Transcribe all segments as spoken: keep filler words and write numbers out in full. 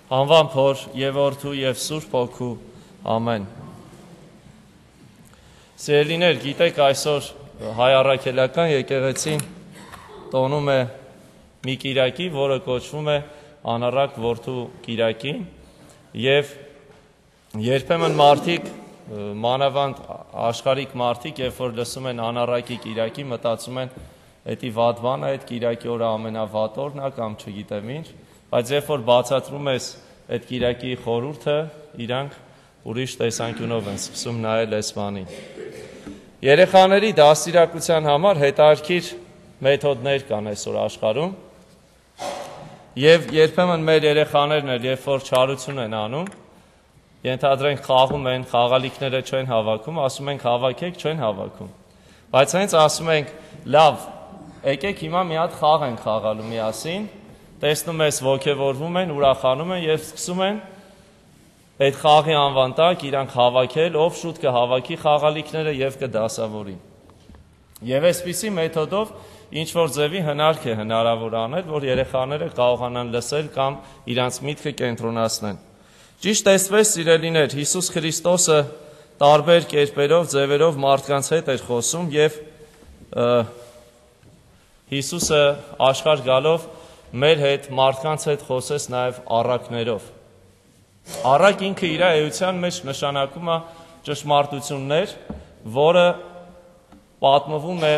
Անվան Փոր եւ Որդու եւ Սուրբ Հոգու ամեն։ Սիրելիներ, գիտեք, այսօր հայ առաքելական եկեղեցին տոնում է մի կիրակի, որը կոչվում է Անառակ Որդու կիրակին, եւ երբեմն մարդիկ, մանավանդ աշխարհիկ մարդիկ, երբ որ լսում են Անառակի կիրակի, մտածում են, էդի վատ բան է, այդ կիրակի օրը ամենավատ օրն է կամ չգիտեմ ինչ, բայց երբ որ բացատրում ես այդ կիրակի խորհուրդը, իրանք ուրիշ տեսանկյունով են սկսում նայել այս բանին։ Երեխաների դաստիարակության համար հետաքրքիր մեթոդներ կան այսօր աշխարհում, եւ երբեմն մեր երեխաներն էլ, երբ որ չարություն են անում, ենթադրենք խաղում են, խաղալիքները չեն հավաքում, ասում ենք հավաքեք, չեն հավաքում։ Բայց հենց ասում ենք, լավ, եկեք հիմա մի հատ խաղ ենք խաղալու միասին, տեսնում ես ոգևորվում են, ուրախանում են եւ սկսում են այդ խաղի անվան տակ իրանք հավաքել, ով շուտ կհավաքի խաղալիքները եւ կդասավորի։ Եվ այսպիսի մեթոդով ինչ որ ձևի հնարք է հնարավոր անել, որ երեխաները կարողանան լսել կամ իրանց միտքը կենտրոնացնեն։ Ճիշտ տեսվեց, սիրելիներ, Հիսուս Քրիստոսը տարբեր կերպերով, ձևերով մարդկանց հետ էր խոսում եւ Հիսուսը աշխարհ գալով մեր հետ մարդկանց հետ խոսեց նաև առակներով։ Առակ ինքը իր էության մեջ նշանակում է ճշմարտություններ, որը պատմվում է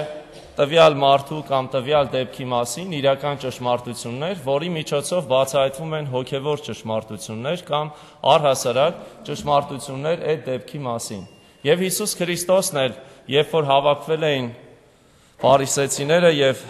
տվյալ մարդու կամ տվյալ դեպքի մասին, իրական ճշմարտություններ, որի միջոցով բացահայտվում են հոգևոր ճշմարտություններ կամ առհասարակ ճշմարտություններ այդ դեպքի մասին։ Եվ Հիսուս Քրիստոսն էլ, երբ որ հավաքվել էին փարիսեցիները եւ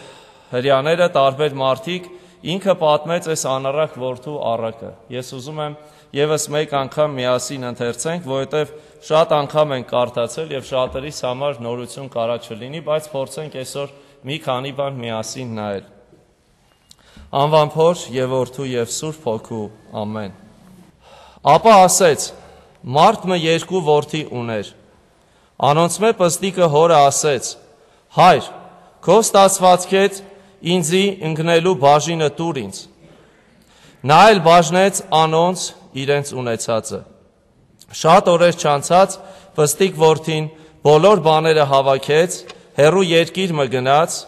հրեաները, տարբեր մարդիկ, ինքը պատմեց այս Անառակ Որդու առակը։ Ես ուզում եմ եւս մեկ անգամ միասին ընթերցենք, որովհետեւ շատ անգամ ենք կարդացել եւ շատերիս համար նորություն կարա չլինի, բայց փորձենք այսօր մի քանի բան միասին նայել։ Անվան Փոր եւ Որդու եւ Սուրբ Հոգու ամեն։ Ապա ասեց. մարդ մը երկու որդի ուներ։ Անոնցմե պստիկը հորը ասեց. հայր, քո ստացվածքեդ ինձի ընկնելու բաժինը տուր ինձ։ Նա էլ բաժնեց անոնց իրենց ունեցածը։ Շատ օրեր չանցած պստիկ որդին բոլոր բաները հավաքեց, հեռու երկիր մը գնաց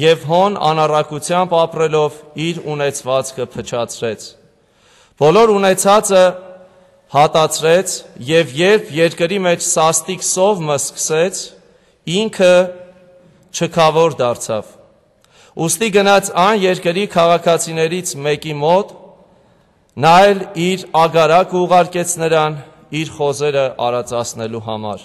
եւ հոն անառակությամբ ապրելով իր ունեցվածքը փչացրեց։ Բոլոր ունեցածը հատացրեց եւ երբ երկրի մեջ սաստիկ սով մը սկսեց, ինքը չքավոր դարձավ։ Ուստի գնաց այն երկրի քաղաքացիներից մեկի մոտ, նա էլ իր ագարակը ուղարկեց նրան իր խոզերը արածացնելու համար։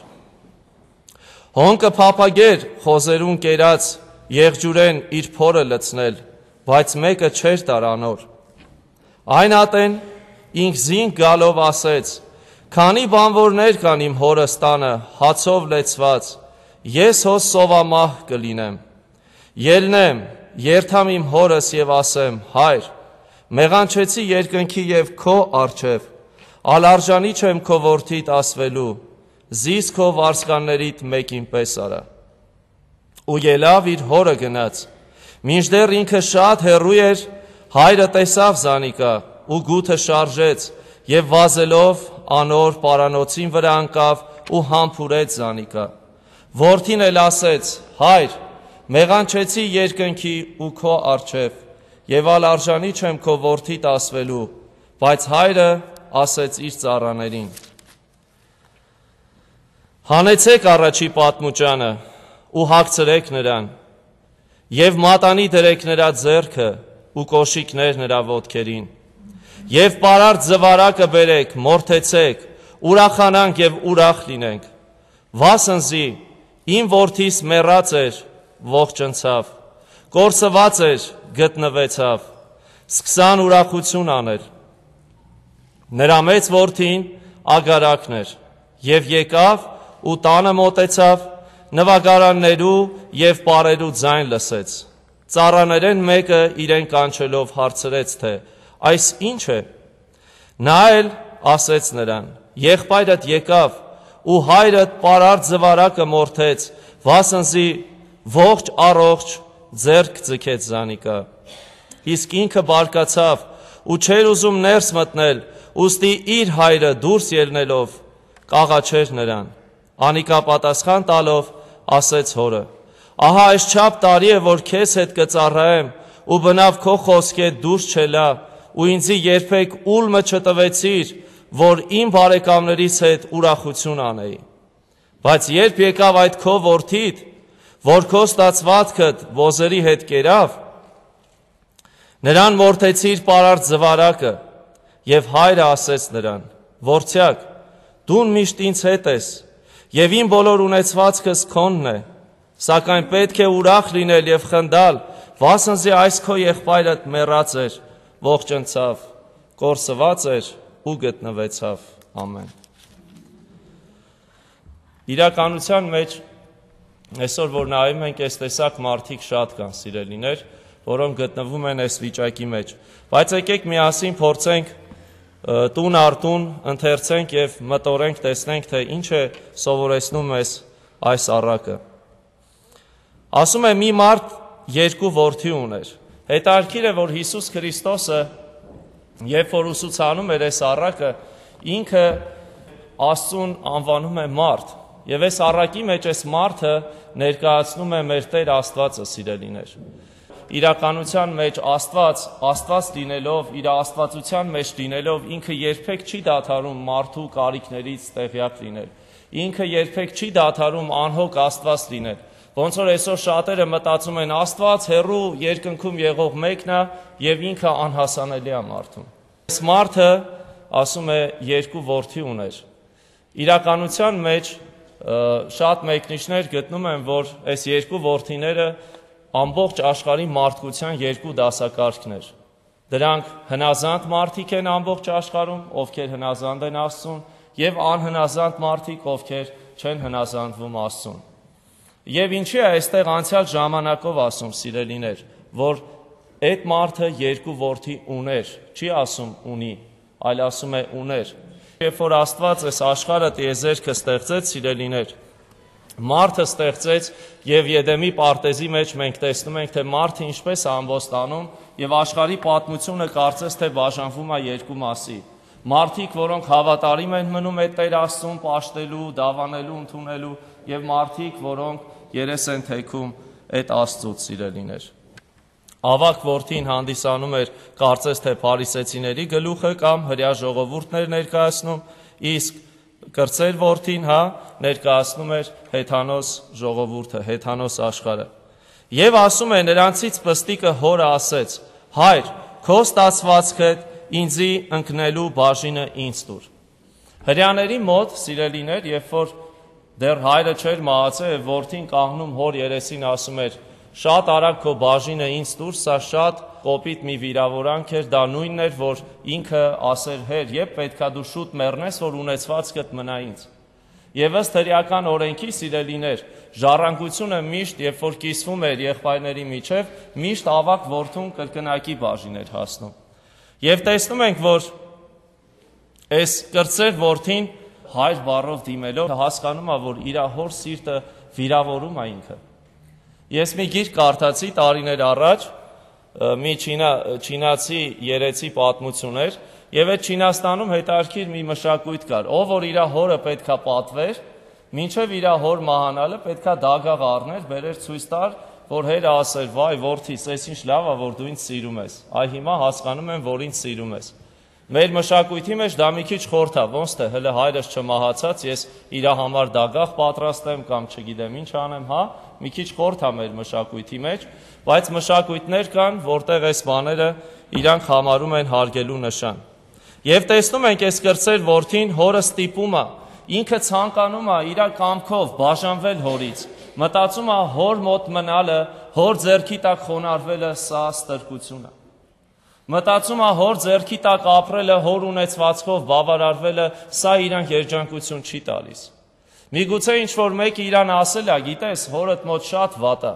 Հոնքը փափագեր խոզերուն կերած եղջյուրեն իր փորը լցնել, բայց մեկը չէր տար անոր։ Այն ատեն ինք զինք գալով ասեց. քանի բանվորներ կան իմ հորս տանը հացով լեցված, ես հոս սովամահ կլինեմ։ Ելնեմ, երթամ իմ հորս եւ ասեմ. հայր, մեղանչեցի երկնքի եւ քո առջև, ալարժանի չեմ քո որդիդ ասվելու, զիս քո վարսկաններիդ մեկին պես արա։ Ու ելավ իր հորը գնաց, մինչդեռ ինքը շատ հեռու էր, հայրը տեսավ զանիկա ու գութը շարժեց եւ վազելով անոր պարանոցին վրա անկավ ու համբուրեց զանիկա։ Որդին էլ ասեց. հայր, մեղանչեցի երկնքի ու քո առջև, եւ ալարժանի չեմ քո որդիդ ասվելու, բայց հայրը ասեց իր ծառաներին. հանեցեք առաջի պատմուճանը ու հագցրեք նրան, եւ մատանի դրեք նրա ձեռքը ու կոշիկներ նրա ոտքերին, եւ պարարտ զվարակը բերեք, մորթեցեք, ուրախանանք եւ ուրախ լինենք, վասնզի իմ որդիս մեռած էր, ողջնցավ, կորսված էր, գտնվեցավ, սկսան ուրախություն անել։ Նրա մեծ որդին ագարակն էր, եւ եկավ ու տանը մոտեցավ, նվագարաններու եւ պարերու ձայն լսեց։ Ծառաներեն մեկը իրեն կանչելով հարցրեց, թե այս ինչ է։ Նա էլ ասեց նրան. եղբայրդ եկավ ու հայրդ պարարտ զվարակը մորթեց, վասնզի ողջ առողջ ձեռք ձգեց զանիկա։ Իսկ ինքը բարկացավ ու չէր ուզում ներս մտնել, ուստի իր հայրը դուրս ելնելով կաղաչեր նրան։ Անիկա պատասխան տալով ասեց հորը. ահա այսչափ տարի է, որ քեզ հետ կծառայեմ, ու բնավ քո խոսքեդ դուրս չելա, ու ինձի երբեք ուլմը չտվեցիր, որ իմ բարեկամներից հետ ուրախություն անեի։ Բայց երբ եկավ այդ քո որդիդ, որ քո ստացվածքդ ոզերի հետ կերավ, նրան մորթեցիր պարարտ զվարակը, եւ հայրը ասեց նրան. որդյակ, դու միշտ ինձ հետ ես, եւ իմ բոլոր ունեցվածքս քոնն է, սակայն պետք է ուրախ լինել եւ խնդալ, վասնզի այս քո եղբայրդ մեռած էր, ողջնցավ, կորսված էր ու գտնվեցավ։ Ամեն։ Իրականության մեջ այսօր որ նայում ենք, այս տեսակ մարդիկ շատ կան, սիրելիներ, որոնք գտնվում են այս վիճակի մեջ, բայց եկեք միասին փորձենք տուն առ տուն ընթերցենք եւ մտորենք, տեսնենք, թե ինչ է սովորեցնում մեզ այս առակը։ Ասում է մի մարդ երկու որդի ուներ։ Հետաքրքիր է, որ Հիսուս Քրիստոսը, երբ որ ուսուցանում էր այս առակը, ինքը Աստծուն անվանում է մարդ, եւ այս առակի մեջ այս մարդը ներկայացնում է մեր Տեր Աստվածը, սիրելիներ։ Իրականության մեջ Աստված, Աստված լինելով, իր աստվածության մեջ լինելով, ինքը երբեք չի դադարում մարդու կարիքներից տեղյակ լինել։ Ինքը երբեք չի դադարում անհոգ Աստված լինել։ Ոնց որ այսօր շատերը մտածում են Աստված հեռու երկնքում եղող մեկն է եւ ինքը անհասանելի է մարդուն։ Այս մարդը, ասում է, երկու որդի ուներ։ Իրականության մեջ շատ մեկնիչներ գտնում են, որ այս երկու որդիները ամբողջ աշխարհի մարդկության երկու դասակարգներ։ Դրանք հնազանդ մարդիկ են ամբողջ աշխարհում, ովքեր հնազանդ են Աստծուն, եւ անհնազանդ մարդիկ, ովքեր չեն հնազանդվում Աստծուն։ Եվ ինչի է այստեղ անցյալ ժամանակով ասում, սիրելիներ, որ այդ մարդը երկու որդի ուներ, չի ասում ունի, այլ ասում է ուներ։ Երբ որ Աստված այս աշխարհը տիեզերքը ստեղծեց, սիրելիներ, մարդը ստեղծեց եւ Եդեմի պարտեզի մեջ մենք տեսնում ենք, թե մարդը ինչպես է ամբոստանում եւ աշխարհի պատմությունը կարծես թե բաժանվում է երկու մասի։ Մարդիկ, որոնք հավատարիմ են մնում այդ Տեր Աստծուն պաշտելու, դավանելու, ընդունելու եւ մարդիկ, որոնք երես են թեքում այդ Աստծուց, սիրելիներ։ Ավակ որդին հանդիսանում էր կարծես թե փարիսեցիների գլուխը կամ հրյա ժողովուրդներ ներկայացնում, իսկ կրծեր որդին, հա, ներկայացնում էր հեթանոս ժողովուրդը, հեթանոս աշխարհը։ Եվ ասում է նրանցից պստիկը հորը ասեց. հայր, քո ստացվածքը ինձի ընկնելու բաժինը ինձ տուր։ Հրյաների մոտ, սիրելիներ, երբ որ դեռ հայրը չէր մահացել, եւ որդին կանգնում հոր երեսին ասում էր. շատ արագ քո բաժինը ինձ տուր, սա շատ կոպիտ մի վիրավորանք էր, դա նույնն էր, որ ինքը ասեր հեր, երբ պետքա դու շուտ մեռնես, որ ունեցվածքդ մնա ինձ։ Եվ ըստ հրեական օրենքի, սիրելիներ, ժառանգությունը միշտ, երբ որ կիսվում էր եղբայրների միջև, միշտ ավակ որդուն կրկնակի բաժին էր հասնում։ Եվ տեսնում ենք, որ այս կրծեր որդին հայր բառով դիմելով հասկանում է, որ իր հոր սիրտը վիրավորում է ինքը։ Ես մի գիրք կարդացի տարիներ առաջ, մի չինացի երեցի պատմություն էր, եւ այդ Չինաստանում հետաքրքիր մի մշակույթ կար, ով որ իր հորը պետքա պատվեր, մինչև իր հոր մահանալը պետքա դագաղ առներ, բերեր ցույց տար, որ հերը ասեր, վայ որդիս, այս ինչ լավ է, որ դու ինձ սիրում ես։ Այ հիմա հասկանում եմ, որ ինձ սիրում ես։ Մեր մշակույթի մեջ դա մի քիչ խորթ է, ոնց թե հələ հայրս չմահացած, ես իր համար դագաղ պատրաստեմ կամ չգիտեմ ինչ անեմ, հա, մի քիչ խորթ է մեր մշակույթի մեջ, բայց մշակույթներ կան, որտեղ այս բաները իրանք համարում են հարգելու նշան։ Եվ տեսնում ենք այս կրծեր որդին հորը ստիպում է, ինքը ցանկանում է իր կամքով բաժանվել հորից, մտածում է հոր մոտ մնալը, հոր ձեռքի տակ խոնարհվելը սա ստրկություն է։ Մտածում է հոր ձեռքի տակ ապրելը, հոր ունեցվածքով բավարարվելը, սա իրան երջանկություն չի տալիս։ Միգուցե ինչ-որ մեկը իրան ասել է, գիտես, հորդ մոտ շատ վատ է,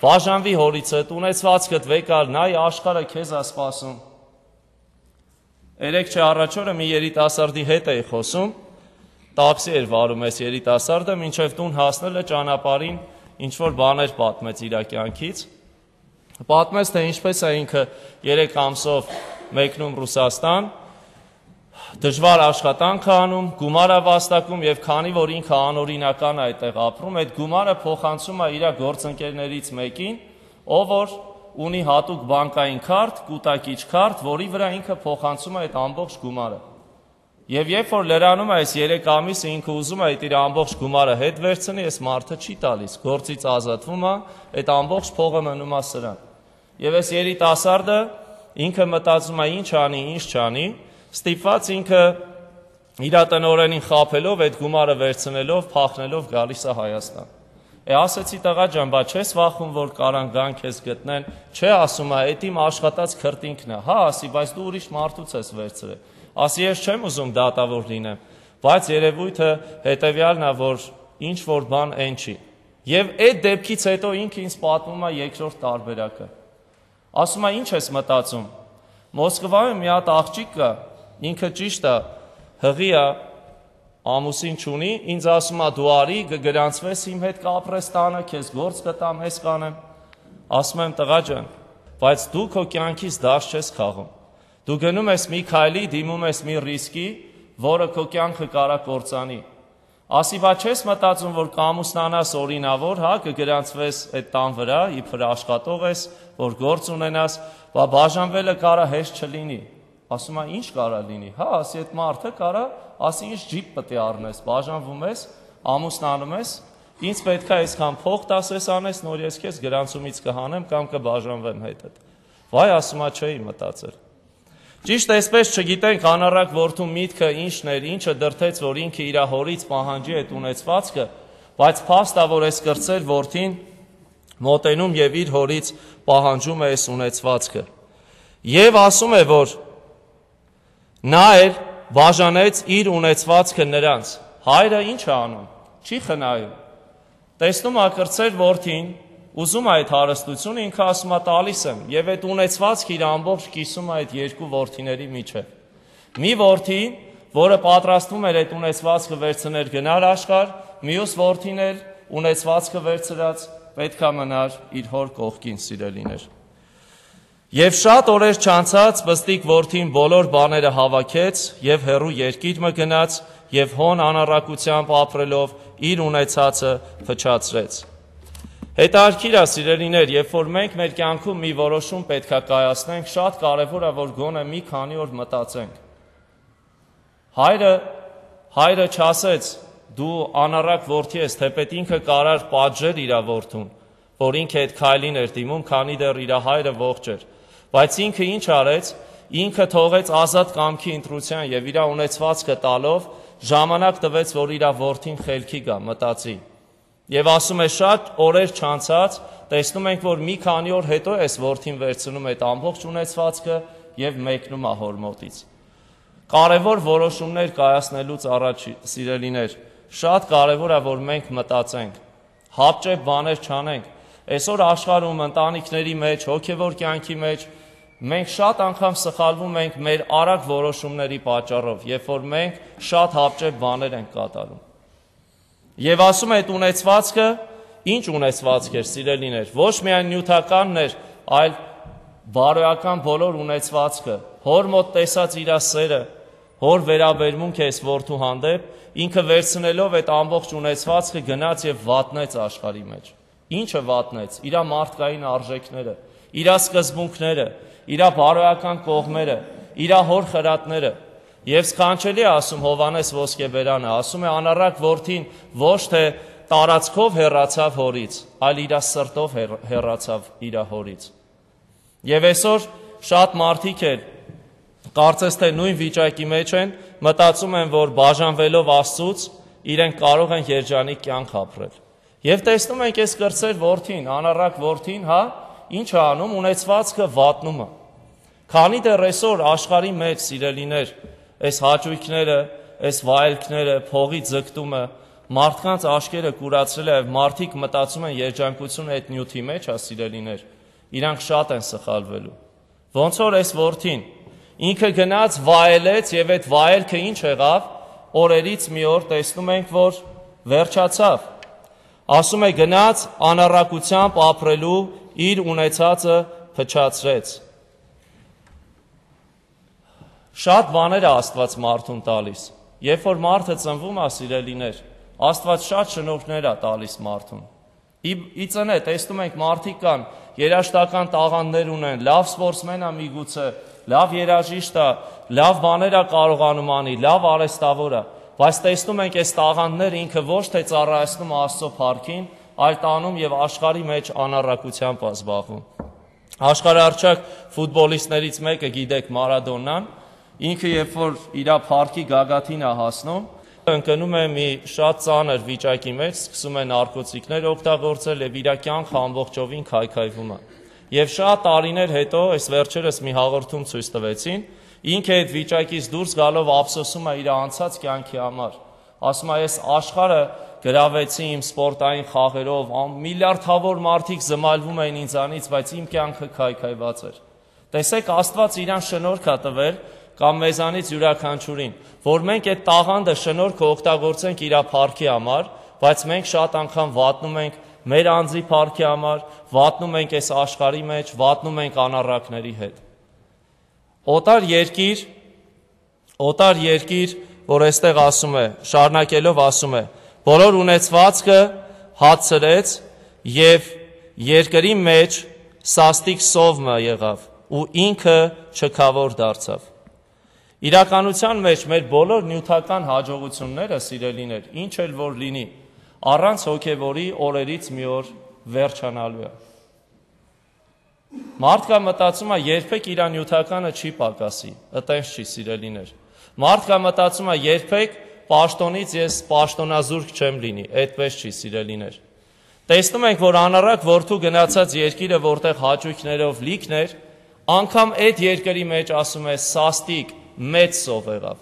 բաժանվի հորիցդ, ունեցվածքդ վեկար, նայ աշխարհը քեզ է սպասում։ Երեք չէ առաջ օրը մի երիտասարդի հետ էի խոսում, տաքսի էր վարում այս երիտասարդը, մինչև տուն հասնելը ճանապարհին ինչ-որ բաներ պատմեց իր կյանքից։ Պատմեց, թե ինչպես է ինքը երեք ամսով մեկնում Ռուսաստան, դժվար աշխատանք է անում, գումար է վաստակում եւ քանի որ ինքը անօրինական է այդտեղ ապրում, այդ գումարը փոխանցում է իր գործընկերներից մեկին, ով որ ունի հատուկ բանկային քարտ, կուտակիչ քարտ, որի վրա ինքը փոխանցում է այդ ամբողջ գումարը։ Եվ երբ որ լրանում է այս երեք ամիսը ինքը ուզում է այդ իր ամբողջ գումարը հետ վերցնի, այս մարդը չի տալիս, գործից ազատվում է, այդ ամբողջ փողը մնում է սրան։ Եվ այս երիտասարդը ինքը մտածում է ինչ անի, ինչ չանի, ստիպված ինքը իր տնօրենին խաբելով, այդ գումարը վերցնելով, փախնելով գալիս է Հայաստան։ Է ասեցի տղա ջան, բա չես վախում, որ կարան գան քեզ գտնեն, չէ ասում է, այդ իմ աշխատած քրտինքն է, հա ասի, բայց դու ուրիշ մարդուց ես վերցրել, ասի ես չեմ ուզում դատավոր լինեմ, բայց երևույթը հետևյալն է, որ ինչ որ բան այն չի։ Եվ այդ դեպքից հետո ինքը ինձ պատմում է երկրորդ տարբերակը։ Ասում է ինչ ես մտածում։ Մոսկվայում մի հատ աղջիկ կա, ինքը ճիշտ է, հղի է, ամուսին չունի, ինձ ասում է դու արի, կգրանցվես իմ հետ կապրես տանը, քեզ գործ կտամ, ես կանեմ։ Ասում եմ տղա ջան, բայց դու քո կյանքից դաշ չես քաղում։ Դու գնում ես մի քայլի, դիմում ես մի ռիսկի, որը քո կյանքը կարա կործանի։ Ասի բա չես մտածում, որ կամուսնանաս օրինավոր, հա, կգրանցվես այդ տան վրա, իբր աշխատող ես, որ գործ ունենաս, բա բաժանվելը կարա հեշտ չլինի։ Ասում է ինչ կարա լինի, հա, ասի այդ մարդը կարա, ասի ինչ ջիպ պետք է առնես, բաժանվում ես, ամուսնանում ես, ինձ պետք է այսքան փող տասես անես, նոր ես քեզ գրանցումից կհանեմ կամ կբաժանվեմ հետդ։ Վայ, ասում է չէի մտածել։ Ճիշտ այսպես չգիտենք անառակ որդու միտքը ինչն էր, ինչը դրթեց, որ ինքը իր հորից պահանջի այդ ունեցվածքը, բայց փաստ է, որ այս կրծեր որդին մոտենում եւ իր հորից պահանջում է այս ունեցվածքը։ Եվ ասում է, որ նա էր բաժանեց իր ունեցվածքը նրանց։ Հայրը ինչ է անում, չի խնայում։ Տեսնում է կրծեր որդին, ուզում է այդ հարստությունը, ինքը ասում է տալիս եմ, եւ այդ ունեցվածքը իր ամբողջ կիսում է այդ երկու որդիների միջև։ Մի որդի, որը պատրաստվում էր այդ ունեցվածքը վերցնել գնալ աշխարհ, մյուս որդին էր ունեցվածքը վերցրած, պետք է մնար իր հոր կողքին, սիրելիներ։ Եվ շատ օրեր չանցած բստիկ որդին բոլոր բաները հավաքեց եւ հեռու երկիր մը գնաց եւ հոն անառակությամբ ապրելով իր ունեցածը փչացրեց։ Հետարքիր է սիրելիներ, երբ որ մենք մեր կյանքում մի որոշում պետք է կայացնենք, շատ կարևոր է, որ գոնե մի քանի օր մտածենք։ Հայրը, հայրը չասեց, դու անառակ որդի ես, թեպետ ինքը կարար պատժեր իր որդուն, որ ինքը այդ քայլին էր դիմում, քանի դեռ իր հայրը ողջ էր, բայց ինքը ինչ արեց, ինքը թողեց ազատ կամքի ընտրության եւ իր ունեցվածքը տալով ժամանակ տվեց, որ իր որդին խելքի գա, մտածի։ Եվ ասում է շատ օրեր չանցած, տեսնում ենք, որ մի քանի օր հետո էս որդին վերցնում այդ ամբողջ ունեցվածքը եւ մեկնում է հոր մոտից։ Կարևոր որոշումներ կայացնելուց առաջ, սիրելիներ, շատ կարևոր է, որ մենք մտածենք, հապճեպ բաներ չանենք։ Այսօր աշխարհում ընտանիքների մեջ, հոգեվոր կյանքի մեջ մենք շատ անգամ սխալվում ենք մեր արագ որոշումների պատճառով, երբ որ մենք շատ հապճեպ բաներ ենք կատարում։ Եվ ասում է այդ ունեցվածքը, ինչ ունեցվածք էր, սիրելիներ, ոչ միայն նյութականն էր, այլ բարոյական բոլոր ունեցվածքը, հոր մոտ տեսած իր սերը, հոր վերաբերմունքը այս որդու հանդեպ, ինքը վերցնելով այդ ամբողջ ունեցվածքը գնաց եւ վատնեց աշխարհի մեջ։ Ինչը վատնեց, իր մարդկային արժեքները, իր սկզբունքները, իր բարոյական կողմերը, իր հոր խրատները։ Եվ սքանչելի է ասում Հովանես Ոսկեբերանը, ասում է անառակ որդին ոչ թե տարածքով հեռացավ հորից, այլ իր սրտով հեռացավ իր հորից։ Եվ այսօր շատ մարդիկ են, կարծես թե նույն վիճակի մեջ են, մտածում են, որ բաժանվելով Աստծուց իրենք կարող են երջանիկ կյանք ապրել։ Եվ տեսնում ենք այս կրծեր որդին, անառակ որդին, հա, ինչ է անում, ունեցվածքը վատնում է։ Քանի դեռ այսօր աշխարհի մեջ, սիրելիներ, այս հաճույքները, այս վայելքները, փողի ձգտումը, մարդկանց աշկերը կուրացրել է, մարդիկ մտածում են երջանկությունը այդ նյութի մեջ, հա սիրելիներ, իրանք շատ են սխալվելու։ Ոնց որ այս որդին, ինքը գնաց վայելեց եւ այդ վայելքը ինչ եղավ, օրերից մի օր տեսնում ենք, որ վերջացավ։ Ասում է գնաց անառակությամբ ապրելու իր ունեցածը փչացրեց։ Շատ բաներ է Աստված մարդուն տալիս։ Երբ որ մարդը ծնվում է, սիրելիներ, Աստված շատ շնորհներ է տալիս մարդուն։ Ի ծնե տեսնում ենք մարդիկ կան, երաժշտական տաղանդներ ունեն, լավ սպորտսմեն է միգուցե, լավ երաժիշտ է, լավ բաներ է կարողանում անի, լավ արհեստավոր է, բայց տեսնում ենք այս տաղանդները ինքը ոչ թե ծառայեցնում Աստծո փառքին, այլ տանում եւ աշխարհի մեջ անառակությամբ է զբաղվում։ Աշխարհարչակ ֆուտբոլիստներից մեկը գիտեք Մարադոնան, ինքը երբ որ իր փառքի գագաթին է հասնում, ընկնում է մի շատ ծանր վիճակի մեջ, սկսում է նարկոտիկներ օգտագործել եւ իր կյանքը ամբողջովին քայքայվում է։ Եվ շատ տարիներ հետո, այս վերջերս մի հաղորդում ցույց տվեցին, ինքը այդ վիճակից դուրս գալով ափսոսում է իր անցած կյանքի համար։ Ասում է, ես աշխարհը գրավեցի իմ սպորտային խաղերով, միլիարդավոր մարդիկ զմալվում էին ինձանից, բայց իմ կյանքը քայքայված էր։ Տեսեք, Աստված իրան շնորհք է տվել կամ մեզանից յուրաքանչյուրին, որ մենք այդ տաղանդը շնորհքը օգտագործենք իր փառքի համար, բայց մենք շատ անգամ վատնում ենք մեր անձի փառքի համար, վատնում ենք այս աշխարհի մեջ, վատնում ենք անառակների հետ։ Օտար երկիր, օտար երկիր, որ այստեղ ասում է, շարունակելով ասում է, բոլոր ունեցվածքը հացրեց եւ երկրի մեջ սաստիկ սովմը եղավ ու ինքը չքավոր դարձավ։ Իրականության մեջ մեր բոլոր նյութական հաջողությունները, սիրելիներ, ինչ էլ որ լինի, առանց հոգևորի օրերից մի օր վերջանալու է։ Մարդկա մտածում է երբեք իր նյութականը չի պակասի, այտենց չի, սիրելիներ։ Մարդկա մտածում է երբեք պաշտոնից ես պաշտոնազուրկ չեմ լինի, այդպես չի, սիրելիներ։ Տեսնում ենք, որ անառակ որդու գնացած երկիրը, որտեղ հաճույքներով լիքն էր, անգամ այդ երկրի մեջ ասում է սաստիկ մեծ սով եղավ։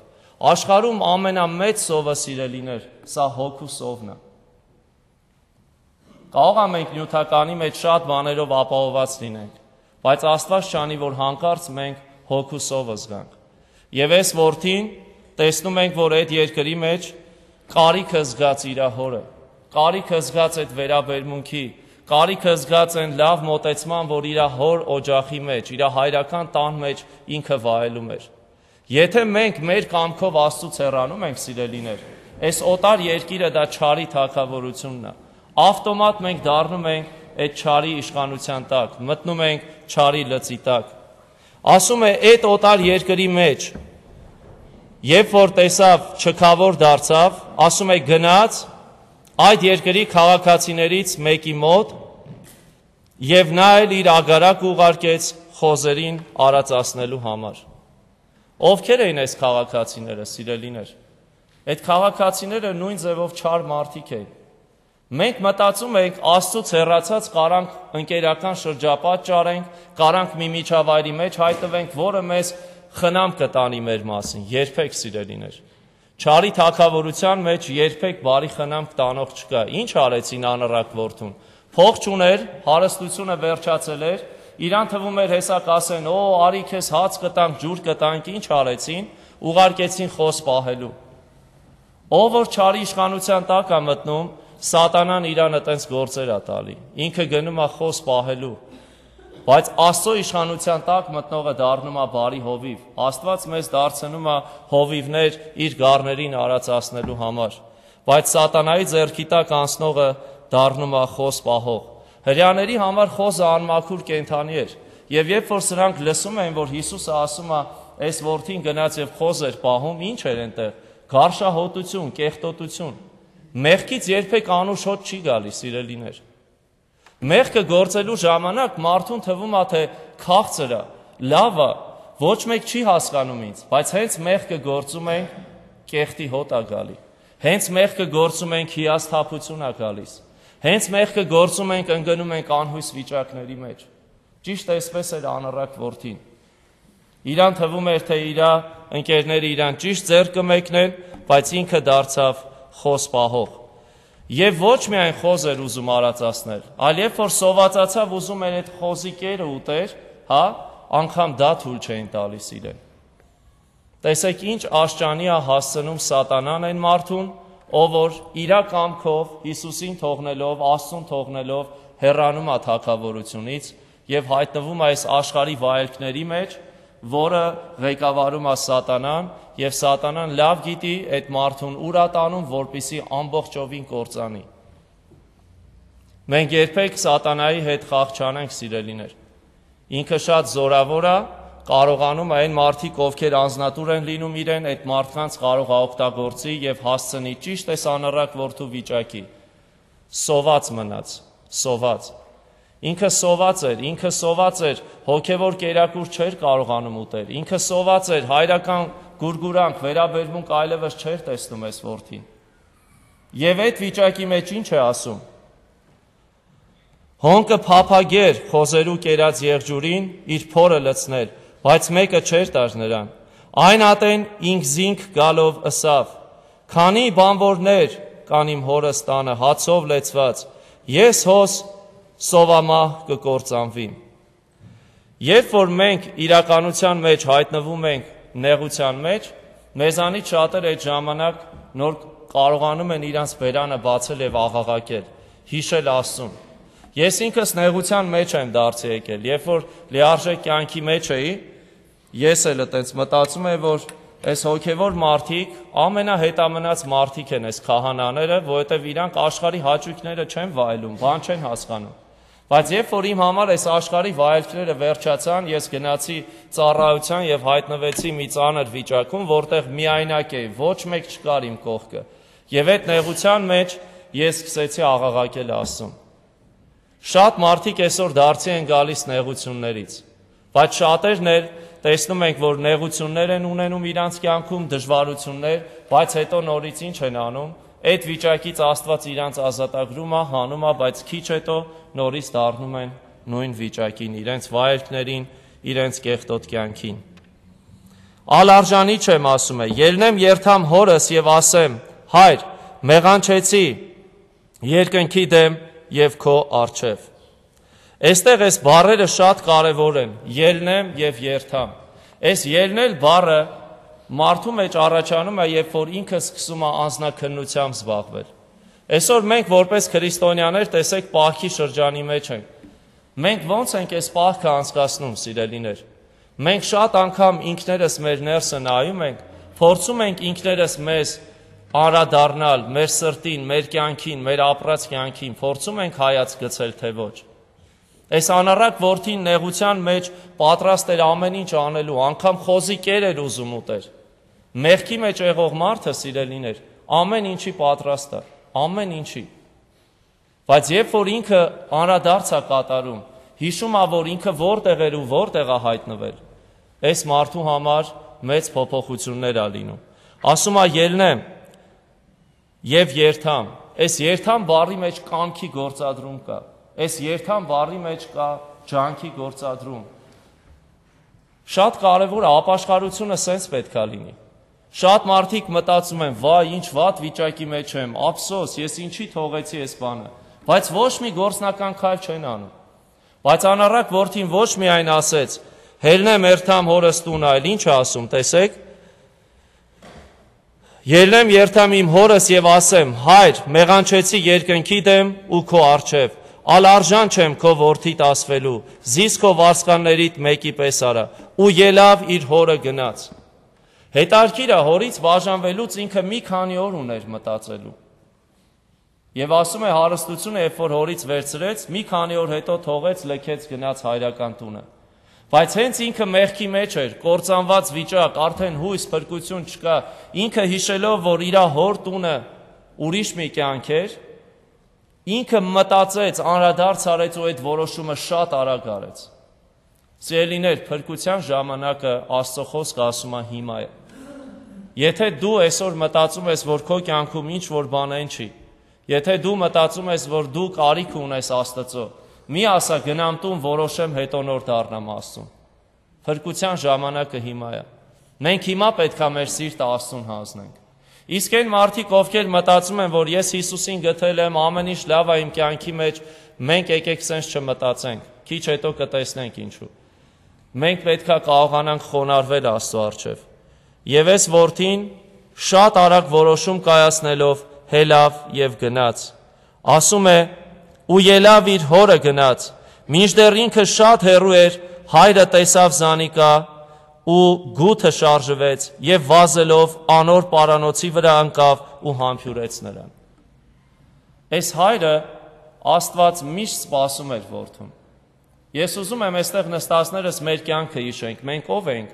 Աշխարհում ամենամեծ սովը, սիրելիներ, սա հոգու սովն է։ Կարող է մենք նյութականի մեջ շատ բաներով ապահովված լինենք, բայց Աստված չանի, որ հանկարծ մենք հոգու սովը զգանք։ Եվ այս որդին տեսնում ենք, որ այդ երկրի մեջ կարիքը զգաց իր հորը, կարիքը զգաց այդ վերաբերմունքի, կարիքը զգաց այն լավ մոտեցման, որ իր հոր օջախի մեջ, իր հայրական տան մեջ ինքը վայելում էր։ Եթե մենք մեր կամքով Աստծուց հեռանում ենք, սիրելիներ, այս օտար երկիրը դա չարի թագավորությունն է։ Ավտոմատ մենք դառնում ենք այդ չարի իշխանության տակ, մտնում ենք չարի լծի տակ։ Ասում է, այդ օտար երկրի մեջ, երբ որ տեսավ չքավոր դարձավ, ասում է գնաց այդ երկրի քաղաքացիներից մեկի մոտ եւ նա էլ իր ագարակ ուղարկեց խոզերին արածացնելու համար։ Ովքեր էին այս քաղաքացիները, սիրելիներ։ Այդ քաղաքացիները նույն ձևով չար մարդիկ էին։ Մենք մտածում ենք Աստծուց հեռացած կարանք ընկերական շրջապատ ճարենք, կարանք մի միջավայրի մեջ հայտնվենք, որը մեզ խնամ կտանի մեր մասին, երբեք, սիրելիներ։ Չարի թագավորության մեջ երբեք բարի խնամ տանող չկա։ Ինչ արեցին անառակ որդուն։ Փող չուներ, հարստությունը վերջացել էր, իրան թվում էր հեսա կասեն, օ, արի քեզ հաց կտանք, ջուր կտանք, ինչ արեցին, ուղարկեցին խոս պահելու։ Ով որ չարի իշխանության տակ է մտնում, Սատանան իրան այտենց գործեր է տալի, ինքը գնում է խոս պահելու, բայց Աստծո իշխանության տակ մտնողը դառնում է բարի հովիվ, Աստված մեզ դարձնում է հովիվներ իր գառներին արածացնելու համար, բայց Սատանայի ձեռքի տակ անցնողը դառնում է խոս պահող։ Հրեաների համար խոզը անմաքուր կենդանի էր, եւ երբ որ սրանք լսում էին, որ Հիսուսը ասում է, այս որդին գնաց եւ խոզ էր պահում, ինչ էր այնտեղ, գարշահոտություն, կեղտոտություն։ Մեղքից երբեք անուշ հոտ չի գալիս, սիրելիներ։ Մեղքը գործելու ժամանակ մարդուն թվում է, թե քաղցր է, լավ է, ոչ մեկ չի հասկանում ինձ, բայց հենց մեղքը գործում ենք, կեղտի հոտ է գալի։ Հենց մեղքը գործում ենք, հիասթափություն է գալիս։ Հենց մեղքը գործում ենք, ընկնում ենք անհույս վիճակների մեջ։ Ճիշտ այսպես էր անառակ որդին։ Իրան թվում էր, թե իր ընկերները իրան ճիշտ ձեռք կմեկնեն, բայց ինքը դարձավ խոս պահող։ Եվ ոչ միայն խոզ էր ուզում արածացնել, այլ երբ որ սովածացավ ուզում էր այդ խոզի կերը ուտեր, հա, անգամ դա թույլ չէին տալիս իրեն։ Տեսեք ինչ աշճանի է հասցնում Սատանան այն մարդուն, ով որ իր կամքով Հիսուսին թողնելով, Աստծուն թողնելով հեռանում է թագավորությունից եւ հայտնվում է այս աշխարհի վայելքների մեջ, որը ղեկավարում է Սատանան, եւ Սատանան լավ գիտի այդ մարդուն ուր է տանում, որպեսզի ամբողջովին կործանի։ Մենք երբեք Սատանայի հետ խաղ չանենք, սիրելիներ։ Ինքը շատ զորավոր է, կարողանում է այն մարդիկ, ովքեր անձնատուր են լինում իրեն, այդ մարդկանց կարող է օգտագործի եւ հասցնի ճիշտ այս անառակ որդու վիճակի։ Սոված մնաց, սոված։ Ինքը սոված էր, ինքը սոված էր, հոգևոր կերակուր չէր կարողանում ուտել, ինքը սոված էր, հայրական գուրգուրանք, վերաբերմունք այլևս չէր տեսնում այս որդին։ Եվ այդ վիճակի մեջ ինչ է ասում։ Հոնկը փափագեր խոզերու կերած եղջյուրին իր փորը լցնել, բայց մեկը չէր տար նրան։ Այն ատեն ինքզինք գալով ըսավ. քանի բանվորներ կան իմ հորս տանը հացով լեցված, ես հոս սովամահ կկործանվիմ։ Երբ որ մենք իրականության մեջ հայտնվում ենք նեղության մեջ, մեզանից շատեր այդ ժամանակ նոր կարողանում են իրանց բերանը բացել եւ աղաղակել, հիշել Աստծուն։ Ես ինքս նեղության մեջ եմ դարձի եկել, երբ որ լիարժեք կյանքի մեջ էի, ես էլ այտենց մտածում եմ, որ այս հոգևոր մարդիկ ամենահետամնաց մարդիկ են, այս քահանաները, որովհետև իրանք աշխարհի հաճույքները չեն վայելում, բան չեն հասկանում։ Բայց երբ որ իմ համար այս աշխարհի վայելքները վերջացան, ես գնացի ծառայության եւ հայտնվեցի մի ծանր վիճակում, որտեղ միայնակ էի, ոչ մեկ չկար իմ կողքը։ Եվ այդ նեղության մեջ ես սկսեցի աղաղակել Աստծուն։ Շատ մարդիկ այսօր դարձի են գալիս նեղություններից, բայց շատերն էլ տեսնում ենք, որ նեղություններ են ունենում իրանց կյանքում, դժվարություններ, բայց հետո նորից ինչ են անում, այդ վիճակից Աստված իրանց ազատագրում է, հանում է, բայց քիչ հետո նորից դառնում են նույն վիճակին, իրենց վայելքներին, իրենց կեղտոտ կյանքին։ Ալարժանի չեմ ասում է, ելնեմ երթամ հորս եւ ասեմ, հայր, մեղանչեցի երկնքի դեմ եւ քո առջև։ Այստեղ այս բառերը շատ կարևոր են, ելնեմ եւ երթամ։ Այս ելնել բառը մարդու մեջ առաջանում է, երբ որ ինքը սկսում է անձնաքննությամբ զբաղվել։ Այսօր մենք որպես քրիստոնյաներ տեսեք պահքի շրջանի մեջ ենք։ Մենք ո՞նց ենք այս պահքը անցկացնում, սիրելիներ։ Մենք շատ անգամ ինքներս մեր ներսը նայում ենք, փորձում ենք ինքներս մեզ անդրադառնալ մեր սրտին, մեր կյանքին, մեր ապրած կյանքին, փորձում ենք հայացք գցել, թե ոչ։ Այս անառակ որդին նեղության մեջ պատրաստ էր ամեն ինչ անելու, անգամ խոզի կեր էր ուզում ուտել։ Մեղքի մեջ եղող մարդը, սիրելիներ, ամեն ինչի պատրաստ է, ամեն ինչի։ Բայց երբ որ ինքը անդրադարձ է կատարում, հիշում է, որ ինքը որտեղ էր ու որտեղ է հայտնվել, այս մարդու համար մեծ փոփոխություններ է լինում։ Ասում է ելնեմ եւ երթամ։ Այս երթամ բառի մեջ կամքի գործադրում կա։ Այս երթամ բառի մեջ կա ջանքի գործադրում։ Շատ կարևոր է, ապաշխարությունը սենց պետք է լինի։ Շատ մարդիկ մտածում են, վայ, ինչ վատ վիճակի մեջ եմ, ափսոս, ես ինչի թողեցի այս բանը, բայց ոչ մի գործնական քայլ չեն անում։ Բայց անառակ որդին ոչ միայն ասեց, ելնեմ երթամ հորս տուն, այլ ինչ է ասում, տեսեք։ Ելնեմ երթամ իմ հորս եւ ասեմ, հայր, մեղանչեցի երկնքի դեմ ու քո առջև, ալարժան չեմ քո որդիդ ասվելու, զիս քո վարսկաններիդ մեկի պես արա, ու ելավ իր հորը գնաց։ Հետարքիր է, հորից բաժանվելուց ինքը մի քանի օր ուներ մտածելու։ Եվ ասում է հարստությունը, երբ որ հորից վերցրեց, մի քանի օր հետո թողեց, լքեց, գնաց հայրական տունը։ Բայց հենց ինքը մեղքի մեջ էր, կործանված վիճակ, արդեն հույս, փրկություն չկա, ինքը հիշելով, որ իր հոր տունը ուրիշ մի կյանք էր, ինքը մտածեց, անդրադարձ արեց ու այդ որոշումը շատ արագ արեց։ Սիրելիներ, փրկության ժամանակը Աստծո խոսքը ասում է հիմա է։ Եթե դու այսօր մտածում ես, որ քո կյանքում ինչ որ բան են չի, եթե դու մտածում ես, որ դու կարիք ունես Աստծո, մի ասա գնամ տուն, որոշեմ, հետո նոր դառնամ Աստծուն։ Փրկության ժամանակը հիմա է։ Մենք հիմա պետք է մեր սիրտը Աստծուն հանձնենք։ Իսկ այն մարդիկ, ովքեր մտածում են, որ ես Հիսուսին գտել եմ, ամեն ինչ լավ է իմ կյանքի մեջ, մենք եկեք սենց չմտածենք, քիչ հետո կտեսնենք ինչու։ Մենք պետք է կարողանանք խոնարհվել Աստծո առջև։ Եվ այս որդին շատ արագ որոշում կայացնելով հելավ եւ գնաց։ Ասում է, ու ելավ իր հորը գնաց, մինչդեռ ինքը շատ հեռու էր, հայրը տեսավ զանիկա ու գութը շարժվեց եւ վազելով անոր պարանոցի վրա ընկավ ու համբյուրեց նրան։ Այս հայրը Աստված միշտ սպասում էր որդուն։ Ես ուզում եմ այստեղ նստածներս մեր կյանքը հիշենք, մենք ով ենք։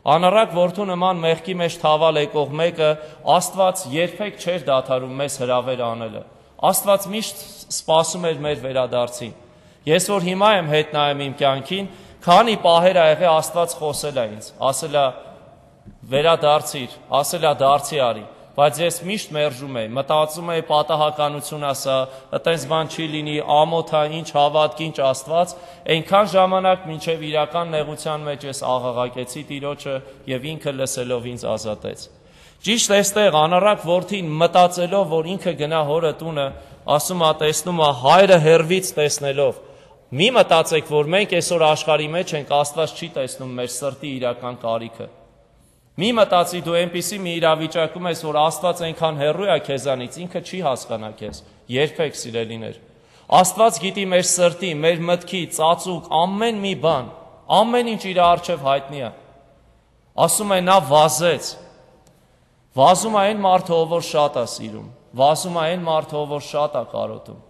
Անառակ որդու նման մեղքի մեջ թավալ եկող մեկը Աստված երբեք չէր դադարում մեզ հրավեր անելը։ Աստված միշտ սպասում էր մեր վերադարձին։ Ես որ հիմա եմ հետ նայեմ իմ կյանքին, քանի պահեր ա եղել Աստված խոսել է ինձ, ասել է վերադարձիր, ասել է դարձի արի, բայց ես միշտ մերժում եմ, մտածում եմ պատահականություն ասա, այտենց բան չի լինի, ամոթ է, ինչ հավատք, ինչ Աստված, այնքան ժամանակ մինչև իրական նեղության մեջ ես աղաղակեցի Տիրոջը եւ ինքը լսելով ինձ ազատեց։ Ճիշտ էստեղ անառակ որդին մտածելով, որ ինքը գնա հորը տունը, ասում է, տեսնում է հայրը հերվից տեսնելով։ Մի մտածեք, որ մենք այսօր աշխարհի մեջ ենք, Աստված չի տեսնում մեր սրտի իրական կարիքը։ Մի մտածի դու այնպիսի մի իրավիճակում ես, որ Աստված այնքան հեռու է քեզանից, ինքը չի հասկանա քեզ։ Երբեք սիրելիներ։ Աստված գիտի մեր սրտի, մեր մտքի, ծածուկ, ամեն մի բան, ամեն ինչ իր առջև հայտնի է։ Ասում է նա վազեց։ Վազում է այն մարդը, ով որ շատ է սիրում, վազում է այն մարդը, ով որ շատ է կարոտում։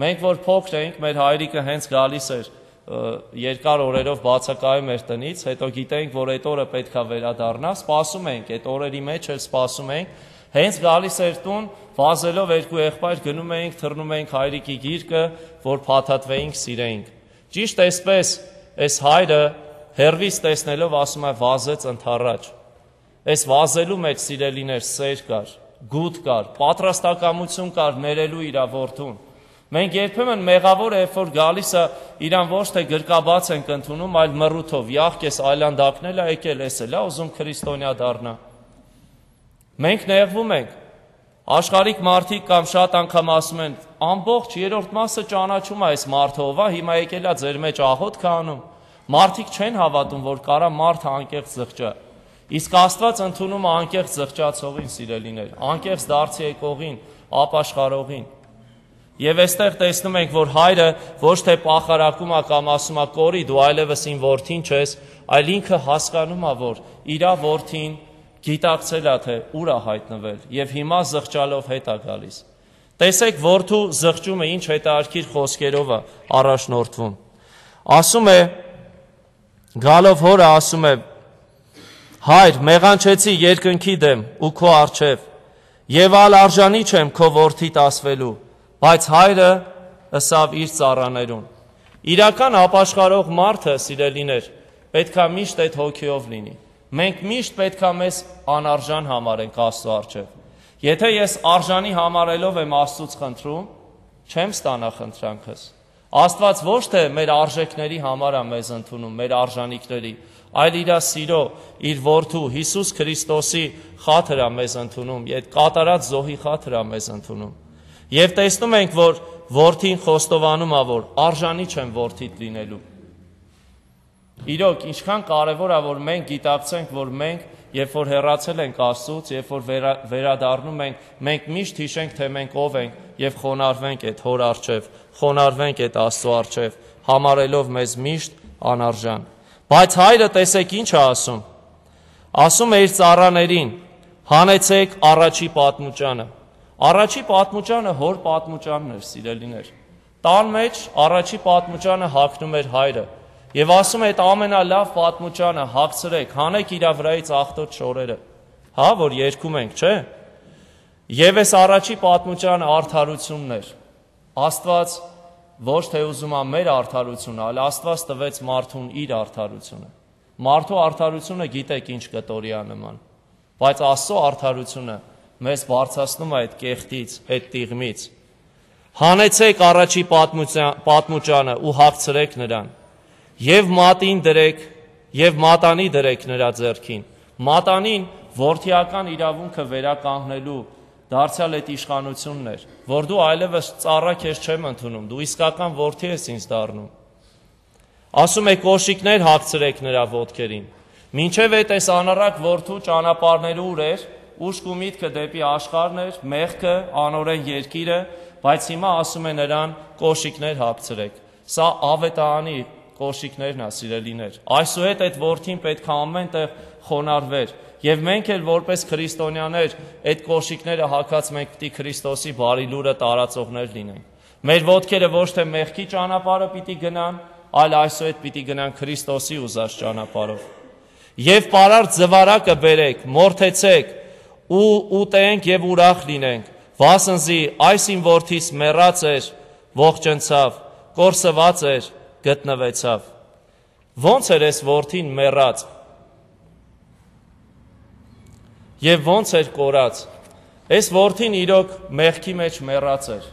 Մենք որ փոքր էինք, մեր հայրիկը հենց գալիս էր երկար օրերով բացակայում էր տնից, հետո գիտենք, որ այդ օրը պետք է վերադառնա, սպասում ենք, այդ օրերի մեջ էլ սպասում ենք, հենց գալիս էր տուն, վազելով երկու եղբայր գնում էինք, թռնում էինք հայրիկի գիրկը, որ փաթաթվեինք, սիրեինք։ Ճիշտ այսպես, այս հայրը հեռվից տեսնելով ասում է վազեց ընդառաջ։ Այս վազելու մեջ սիրելիներ սեր կար, գութ կար, պատրաստակամություն կար ներելու իր որդուն։ Մենք երբեմն մեղավոր է, երբ որ գալիս է, իրան ոչ թե գրկաբաց ենք ընդունում, այլ մռութով, յախքես այլանդակնել է եկել, էս էլ է ուզում քրիստոնյա դառնա։ Մենք նեղվում ենք։ Աշխարհիկ մարդիկ կամ շատ անգամ ասում են, ամբողջ երրորդ մասը ճանաչում է այս մարդը ով է, հիմա եկել է ձեր մեջ աղոթք անում։ Մարդիկ չեն հավատում, որ կարա մարդը անկեղծ զղջա։ Իսկ Աստված ընդունում է անկեղծ զղջացողին, սիրելիներ, անկեղծ դարձի եկողին, ապաշխարողին։ Եվ այստեղ տեսնում ենք, որ հայրը ոչ թե պախարակում է կամ ասում է կորի, դու այլևս իմ որդին չես, այլ ինքը հասկանում է, որ իր որդին գիտակցել է, թե ուր է հայտնվել, եւ հիմա զղջալով հետ է գալիս։ Տեսեք, որդու զղջումը ինչ հետաքրքիր խոսքերով է առաջնորդվում։ Ասում է, գալով հորը ասում է. Հայր, մեղանչեցի երկնքի դեմ ու քո առջև, եւ ալ արժանի չեմ քո որդիդ ասվելու, բայց հայրը ըսավ իր ծառաներուն։ Իրական ապաշխարող մարդը, սիրելիներ, պետքա միշտ այդ հոգիով լինի։ Մենք միշտ պետքա մեզ անարժան համարենք Աստծո առջև։ Եթե ես արժանի համարելով եմ Աստծուց խնդրում, չեմ ստանա խնդրանքս։ Աստված ոչ թե մեր արժեքների համար է մեզ ընդունում, մեր արժանիքների, այլ իր սիրո, իր որդու Հիսուս Քրիստոսի խաթր է մեզ ընդունում, այդ կատարած զոհի խաթր է մեզ ընդունում։ Եվ տեսնում ենք, որ որդին խոստովանում է, որ արժանի չեմ որդիդ լինելու։ Իրոք, ինչքան կարևոր է, որ մենք գիտակցենք, որ մենք, երբ որ հեռացել ենք Աստծուց, երբ որ վերա, վերադառնում ենք, մենք միշտ հիշենք, թե մենք ով ենք եւ խոնարհվենք այդ հոր առջև, խոնարհվենք այդ Աստծո առջև, համարելով մեզ միշտ անարժան։ Բայց հայրը տեսեք ինչ է ասում։ Ասում է իր ծառաներին. հանեցեք առաջի պատմուճանը։ Առաջի պատմուճանը հոր պատմուճանն էր, սիրելիներ։ Տան մեջ առաջի պատմուճանը հագնում էր հայրը։ Եվ ասում է այդ ամենալավ պատմուճանը հագցրեք, հանեք իր վրայից աղտոտ շորերը։ Հա, որ երգում ենք, չէ՞։ Եվ այս առաջի պատմուճանը արդարությունն էր։ Աստված ոչ թե ուզում է մեր արդարությունը, այլ Աստված տվեց մարդուն իր արդարությունը։ Մարդու արդարությունը գիտեք ինչ կտորի է նման, բայց Աստծո արդարությունը մեզ բարձրացնում է այդ կեղտից, այդ տիղմից։ Հանեցեք առաջի պատմուճանը ու հագցրեք նրան, եւ մատին դրեք, եւ մատանի դրեք նրա ձեռքին։ Մատանին որդիական իրավունքը վերականգնելու դարձյալ այդ իշխանությունն էր, որ դու այլևս ծառա քեզ չեմ ընդունում, դու իսկական որդի ես ինձ դառնում։ Ասում է կոշիկներ հագցրեք նրա ոտքերին։ Մինչև այդ այս անառակ որդու ճանապարհները ուր էր, ուշք ու միտքը դեպի աշխարհն էր, մեղքը, անօրեն երկիրը, բայց հիմա ասում է նրան կոշիկներ հագցրեք։ Սա ավետարանի կոշիկներն է, սիրելիներ։ Այսուհետ այդ որդին պետք է ամեն տեղ խոնարհվեր, եւ մենք էլ որպես քրիստոնյաներ այդ կոշիկները հագած մենք պիտի Քրիստոսի բարի լուրը տարածողներ լինենք։ Մեր ոտքերը ոչ թե մեղքի ճանապարհը պիտի գնան, այլ այսուհետ պիտի գնան Քրիստոսի ուզած ճանապարհով։ Եվ պարարտ զվարակը բերեք, մորթեցեք ու ուտենք եւ ուրախ լինենք, վասնզի այս իմ որդիս մեռած էր, ողջնցավ, կորսված էր, գտնվեցավ։ Ոնց էր այս որդին մեռած եւ ոնց էր կորած։ Այս որդին իրոք մեղքի մեջ մեռած էր։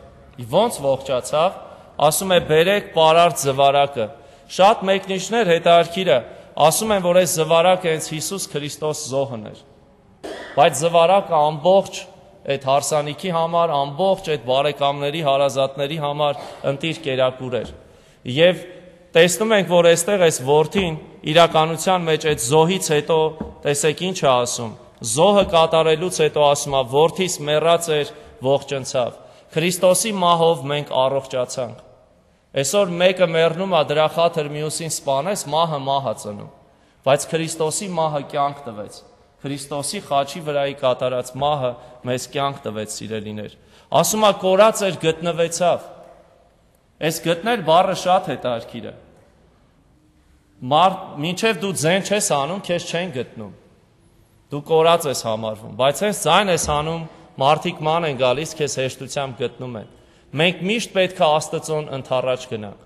Ոնց ողջացավ, ասում է բերեք պարարտ զվարակը։ Շատ մեկնիչներ հետարքիրը ասում են, որ այս զվարակը հենց Հիսուս Քրիստոս զոհն էր։ Բայց զվարակը ամբողջ այդ հարսանիքի համար, ամբողջ այդ բարեկամների, հարազատների համար ընտիր կերակուր էր։ Եվ տեսնում ենք, որ այստեղ այս որդին իրականության մեջ այդ զոհից հետո տեսեք ինչ է ասում։ Զոհը կատարելուց հետո ասում է, որդիս մեռած էր, ողջնցավ։ Քրիստոսի մահով մենք առողջացանք։ Այսօր մեկը մեռնում է, դրա խաթր մյուսին սպանես, մահը մահ է ծնում։ Բայց Քրիստոսի մահը կյանք տվեց։ Քրիստոսի խաչի վրայի կատարած մահը մեզ կյանք տվեց, սիրելիներ։ Ասում է կորած էր, գտնվեցավ։ Այս գտնել բառը շատ հետաքրքիր է։ Մինչև դու ձեն չես անում, քեզ չեն գտնում։ Դու կորած ես համարվում, բայց հենց ձայն ես անում, մարդիկ ման են գալիս, քեզ հեշտությամբ գտնում են։ Մենք միշտ պետք է Աստծուն ընդառաջ գնանք։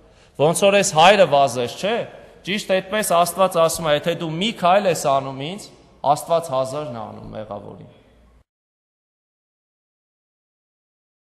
Ոնց որ այս հայրը վազես, չէ՞։ Ճիշտ այդպես Աստված ասում է, եթե դու մի քայլ ես անում ինձ, Աստված հազարն է անում մեղավորին։